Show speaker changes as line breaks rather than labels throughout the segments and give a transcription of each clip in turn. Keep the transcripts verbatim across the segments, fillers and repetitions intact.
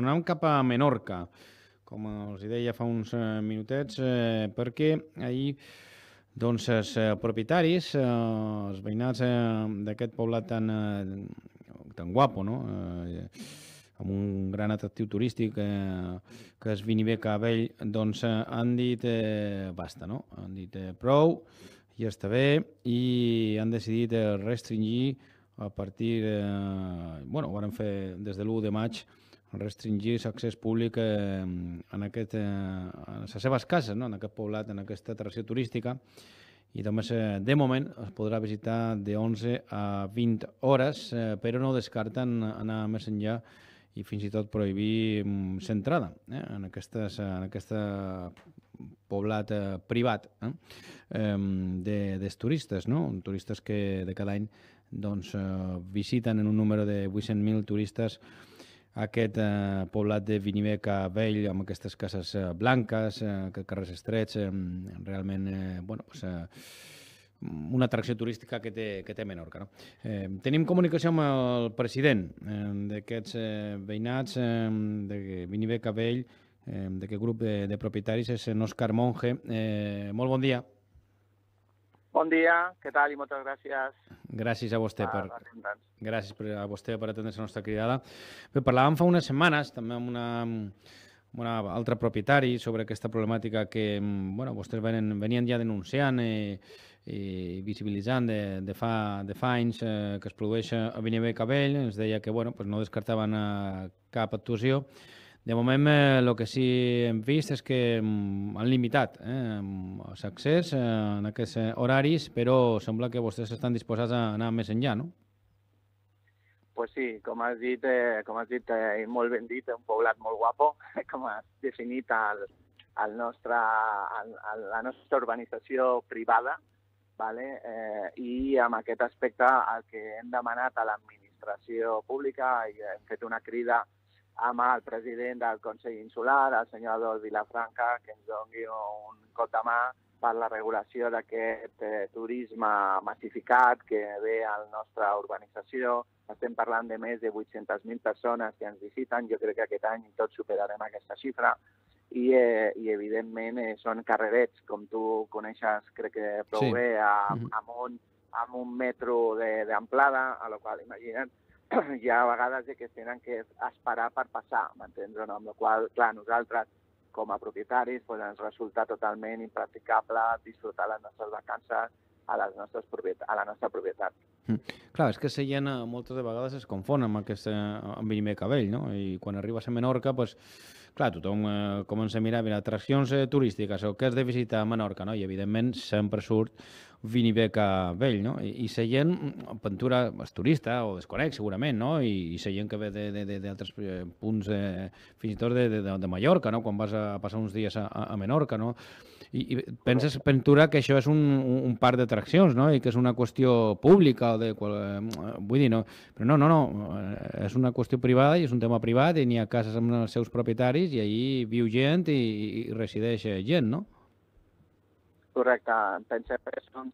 tornem cap a Menorca, com els deia fa uns eh, minutets, eh, perquè ahir doncs, els eh, propietaris, eh, els veïnats eh, d'aquest poblat tan, eh, tan guapo, no? Eh, amb un gran atractiu turístic eh, que és Viniveca Vell, doncs eh, han dit eh, basta, no? Han dit eh, prou, ja està bé, i han decidit eh, restringir a partir, eh, bueno, ho van fer des de l'u de maig, restringir l'accés públic eh, en, aquest, eh, en les seves cases, no? En aquest poblat, en aquesta atracció turística, i només eh, de moment es podrà visitar de onze a vint hores, eh, però no descarten anar més enllà i fins i tot prohibir l'entrada eh, en, aquestes, en aquest poblat eh, privat eh, de, dels turistes, no? Turistes que de cada any doncs, eh, visiten en un número de vuit-cents mil turistes aquest eh, poblat de Viniveca Vell, amb aquestes cases eh, blanques, eh, aquests carrers estrets, eh, realment eh, bueno, pues, eh, una atracció turística que té, que té Menorca. No? Eh, tenim comunicació amb el president eh, d'aquests eh, veïnats eh, de Viniveca Vell, eh, d'aquest grup de, de propietaris, és en Òscar Monge. Eh, molt bon dia.
Bon dia, què tal i moltes gràcies.
Gràcies a vostè per,
per
gràcies per, a vostè per atendre la nostra cridada. Bé, parlàvem fa unes setmanes també amb una, amb una altra propietari sobre aquesta problemàtica que bueno, vostès venen, venien ja denunciant i, i visibilitzant de, de, fa, de fa anys eh, que es produeix a Viniveca Vell. Ens deia que bueno, pues no descartaven eh, cap actuació. De moment, el eh, que sí hem vist és que mm, han limitat eh, l'accés eh, en aquests horaris, però sembla que vostès estan disposats a anar més enllà, no?
Pues sí, com has dit, eh, com has dit eh, molt ben dit, un poblat molt guapo, com has definit el, el nostre, el, el, la nostra urbanització privada, vale? eh, i amb aquest aspecte el que hem demanat a l'administració pública i hem fet una crida amb el president del Consell Insular, el senyor Adolf Vilafranca, que ens doni un cop de mà per la regulació d'aquest eh, turisme massificat que ve a la nostra urbanització. Estem parlant de més de vuit-centes mil persones que ens visiten. Jo crec que aquest any tots superarem aquesta xifra. I, eh, i evidentment, eh, són carrerets, com tu coneixes, crec que prou
Sí.
bé, a, amb, un, amb un metro d'amplada, a la qual, imagina't, hi ha vegades que es tenen que esperar per passar, m'entens o no? Amb la qual, clar, nosaltres, com a propietaris, pues, ens resulta totalment impracticable disfrutar les nostres vacances a, les nostres propietat, a la nostra propietat.
Mm. Clar, és que la gent moltes de vegades es confon amb aquest amb Viniveca Vell, no? I quan arribes a Menorca, pues, clar, tothom eh, comença a mirar, mira, atraccions eh, turístiques o què has de visitar a Menorca, no? I evidentment sempre surt Viniveca Vell, no? I, i la gent, pintura, és turista o desconeix segurament, no? I, i la gent que ve d'altres punts, eh, fins i tot de, de, de Mallorca, no? Quan vas a passar uns dies a, a Menorca, no? I, i penses, Ventura, que això és un, un parc d'atraccions, no? I que és una qüestió pública o de... Vull dir, no. Però no, no, no. És una qüestió privada i és un tema privat i n'hi ha cases amb els seus propietaris i allí viu gent i, i resideix gent, no?
Correcte. Pensem que és un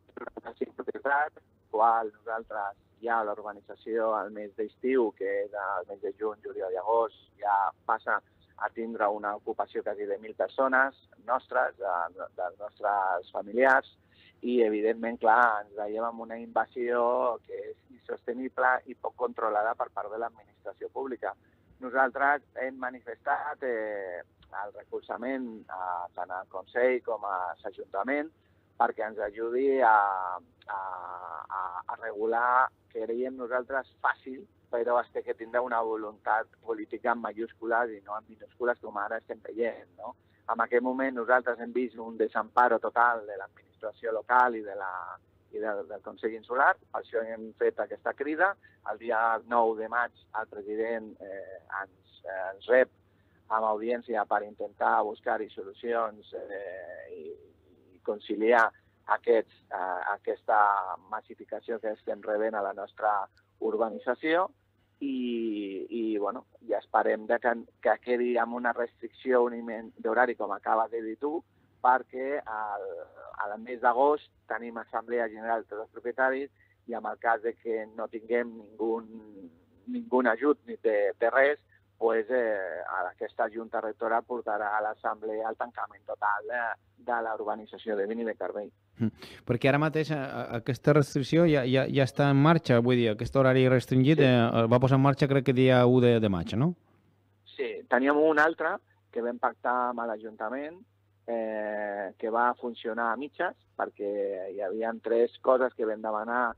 cinc propietats, qual nosaltres ja a l'urbanització al mes d'estiu, que és el mes de juny, juliol i agost, ja passa a tindre una ocupació quasi de mil persones nostres, de, dels nostres familiars, i evidentment, clar, ens veiem amb una invasió que és insostenible i poc controlada per part de l'administració pública. Nosaltres hem manifestat eh, el recolzament a, tant al Consell com a l'Ajuntament perquè ens ajudi a, a, a, a regular, que creiem nosaltres, fàcil, però es té que tindre una voluntat política en majúscules i no en minúscules com ara estem veient, no? En aquest moment nosaltres hem vist un desamparo total de l'administració local i, de la, i del, del Consell Insular, per això hem fet aquesta crida. El dia nou de maig el president eh, ens, eh, ens rep amb audiència per intentar buscar-hi solucions eh, i, i conciliar aquests, eh, aquesta massificació que estem rebent a la nostra urbanització. I, i bueno, ja esperem de que, que quedi amb una restricció d'horari, com acabes de dir tu, perquè al, al mes d'agost tenim assemblea general de tots els propietaris i en el cas de que no tinguem ningú, ningú ajut ni de, de res, pues, eh, aquesta Junta Rectora portarà a l'Assemblea el tancament total de, de la urbanització de Vini de Carbell.
Mm. Perquè ara mateix aquesta restricció ja, ja, ja està en marxa, vull dir, aquest horari restringit sí. eh, va posar en marxa crec que dia u de, de maig, no?
Sí, teníem un altre que vam pactar amb l'Ajuntament, eh, que va funcionar a mitges, perquè hi havia tres coses que vam demanar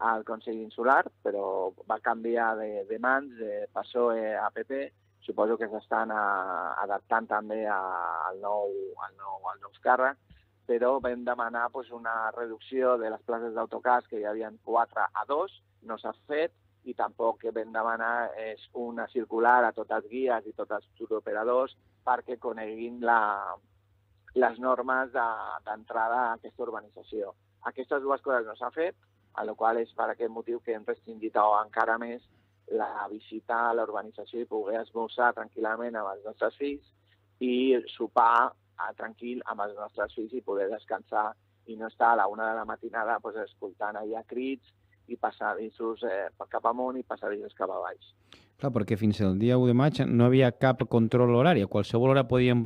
al Consell Insular, però va canviar de, de mans, de P S O E a P P. Suposo que s'estan adaptant també al nou, al nou, al nou càrrec, però vam demanar pues, una reducció de les places d'autocars, que hi havia quatre a dos, no s'ha fet, i tampoc que vam demanar és una circular a tots els guies i tots els turoperadors perquè coneguin la, les normes d'entrada a aquesta urbanització. Aquestes dues coses no s'ha fet, a la qual és per aquest motiu que hem restringit encara més la visita a la urbanització i poder esmorzar tranquil·lament amb els nostres fills i sopar tranquil amb els nostres fills i poder descansar i no estar a la una de la matinada pues, escoltant allà crits i passadissos eh, cap amunt i passadissos cap a baix.
Clar, perquè fins al dia u de maig no havia cap control horari. A qualsevol hora podíem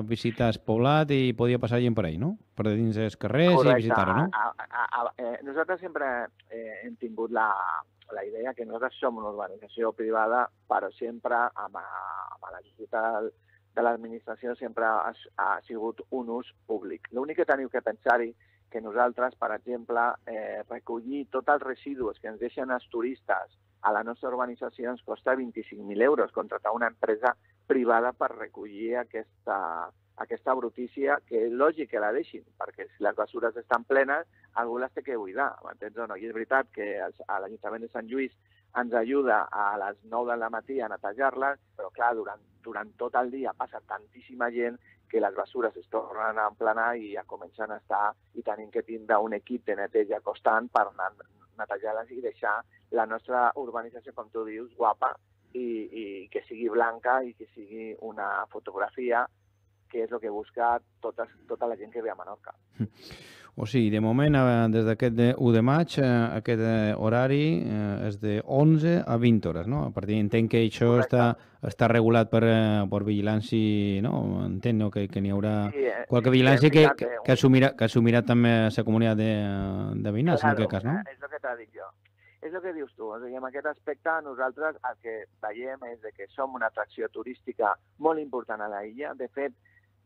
visitar el poblat i podia passar gent per ahí, no? Per dins dels carrers. Correcte. I visitar-ho, no?
A, a, a, eh, nosaltres sempre eh, hem tingut la, la idea que nosaltres som una urbanització privada, però sempre amb, amb l'ajuda de l'administració sempre ha, ha sigut un ús públic. L'únic que teniu que pensar-hi que nosaltres, per exemple, eh, recollir tots els residus que ens deixen els turistes a la nostra urbanització ens costa vint-i-cinc mil euros, contractar una empresa privada per recollir aquesta, aquesta brutícia, que és lògic que la deixin, perquè si les bessures estan plenes, algú les té que buidar, m'entens o no? I és veritat que l'Ajuntament de Sant Lluís ens ajuda a les nou del matí a netejar-les, però clar, durant, durant tot el dia passa tantíssima gent que les bessures es tornen a emplenar i ja comencen a estar i tenim que tindre un equip de neteja constant per anar netejar-les i deixar la nostra urbanització, com tu dius, guapa i, i que sigui blanca i que sigui una fotografia que és el que busca tota, tota la gent que ve a Menorca.
O sigui, de moment, des d'aquest u de maig, aquest horari és de onze a vint hores, no? A partir entenc que això està, està regulat per, per vigilància, no? Entenc, no? Que, que n'hi haurà sí, qualque vigilància sí, que, que, que, assumirà, que assumirà també la comunitat de, de veïnats, claro, en aquest cas, no?
És el que t'ha dit jo. És el que dius tu. O sigui, en aquest aspecte nosaltres el que veiem és que som una atracció turística molt important a la illa. De fet,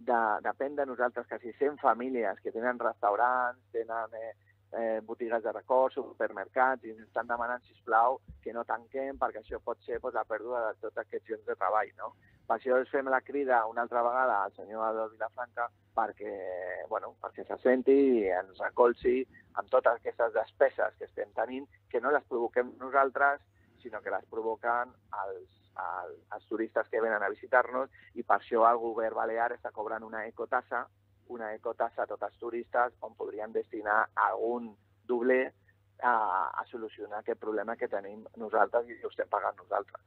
de, depèn de nosaltres quasi cent famílies que tenen restaurants, tenen eh, eh, botigues de record, supermercats, i ens estan demanant, sisplau, que no tanquem, perquè això pot ser pues, la pèrdua de tots aquests llocs de treball, no? Per això ens fem la crida una altra vegada al senyor Adolf Vilafranca perquè, bueno, perquè se senti i ens recolzi amb totes aquestes despeses que estem tenint, que no les provoquem nosaltres, sinó que les provoquen els, els, els turistes que venen a visitar-nos, i per això el govern balear està cobrant una ecotassa, una ecotassa a tots els turistes on podrien destinar algun dobler a, a solucionar aquest problema que tenim nosaltres i ho estem pagant nosaltres.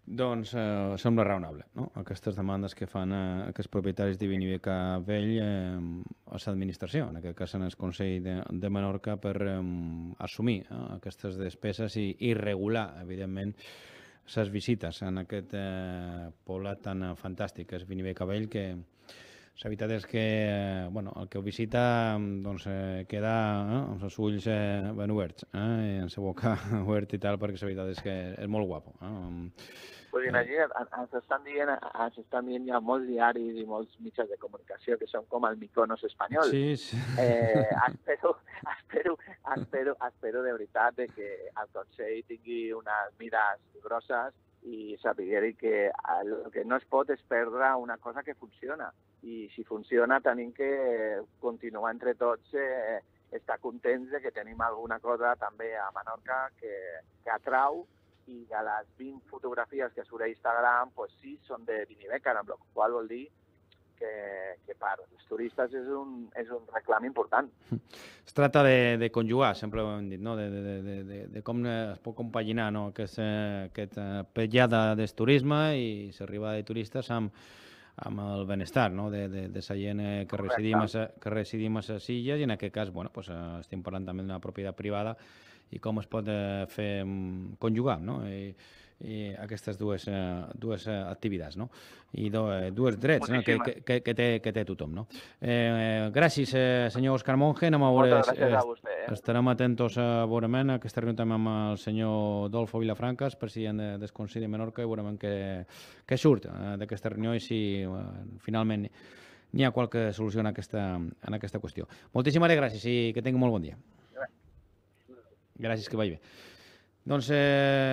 Doncs eh, sembla raonable, no? Aquestes demandes que fan eh, aquests propietaris de Viniveca Vell eh, a l'administració, en aquest cas en el Consell de, de Menorca, per eh, assumir eh, aquestes despeses i, i regular, evidentment, les visites en aquest eh, poblat tan fantàstic que és Viniveca Vell, que la veritat és que eh, bueno, el que ho visita doncs, eh, queda eh, amb els ulls eh, ben oberts, eh, i amb la boca oberta i tal, perquè la veritat és que és molt guapo. Eh?
Pues imagina't, ens estan dient, ens estan dient ja molts diaris i molts mitjans de comunicació que són com el Mykonos espanyol.
Sí, sí.
Eh, espero, espero, espero, espero de veritat de que el Consell tingui unes mires grosses i sapigueri que el que no es pot és perdre una cosa que funciona. I si funciona tenim que continuar entre tots eh, estar contents de que tenim alguna cosa també a Menorca que, que atrau, i de les vint fotografies que surt a Instagram, pues sí, són de Viniveca, amb la qual vol dir que, que per als turistes és un, és un reclam important.
Es tracta de, de conjugar, sempre ho hem dit, no? de, de, de, de, de com es pot compaginar no? aquest, aquest petjada del turisme i l'arribada de turistes amb, amb el benestar no? de, de, de la gent que residim, a, que residim a les illes, i en aquest cas bueno, pues, estem parlant també d'una propietat privada i com es pot eh, fer conjugar, no? I, i aquestes dues, eh, dues eh, activitats, no? I do, eh, dues drets, no? que, que, que, té, que té tothom, no? Eh, gràcies, eh, senyor Òscar Monge. Anem a veure,
Moltes gràcies a vostè. Eh?
Estarem atentos a veurement aquesta reunió també amb el senyor Dolfo Vilafrancas, president de, del Consell de Menorca, i veurem què, què surt eh, d'aquesta reunió i si eh, finalment n'hi ha qualque solució en aquesta, en aquesta qüestió. Moltíssimes gràcies i que tingui molt bon dia. Gràcies, que vagi bé. Doncs... Eh...